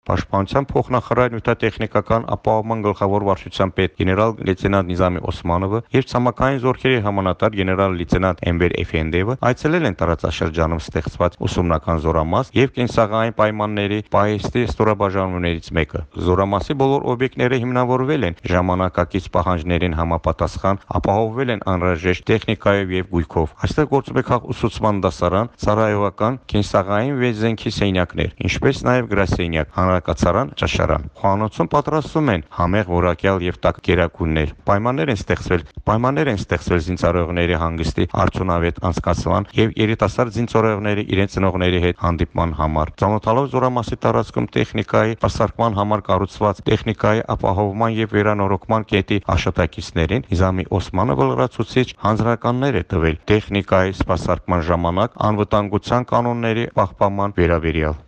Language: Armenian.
Պաշտպանության փոխնախարար նյութատեխնիկական ապահովման գլխավոր վարչության պետ գեներալ-լեյտենանտ Նիզամի Օսմանովը եւ ցամաքային զորքերի հրամանատար գեներալ-լեյտենանտ Էնվեր Էֆենդիևը այցելել են տարածաշրջանում ստեղծված ուսումնական զորամաս եւ կենսաղային պայմանների պահեստի ստորաբաժանումներից մեկը։ Զորամասի բոլոր օբյեկտները հիմնավորվել են ժամանակակից պահանջներին համապատասխան, ապահովվել են անհրաժեշտ տեխնիկայով եւ գույքով։ Այստեղ գործում է ուսուցման դասարան, ծառայողական, կենսաղային վեզենքի սենյակներ, ինչպես նաեւ գրասենյակ, հանրակացարան, ճաշարան։ Խոհանոցում պատրաստվում են համեղ որակյալ եւ տաք գերակուրներ։ Պայմաններ են ստեղծվել զինծառայողների հանգստի արդյունավետ անցկացման եւ երիտասարդ զինծառայողների իրենց ծնողների հետ հանդիպման համար։ Ծանոթալով զորամասի տարածքում տեխնիկայի սպասարկման համար կառուցված տեխնիկայի ապահովման եւ վերանորոգման կետի աշխատակիցներին Նիզամի Օսմանովը լրացուցիչ հանձնարարականներ է տվել տեխնիկայի սպասարկման ժամանակ անվտանգության կանոնների պահպանման վերաբերյալ։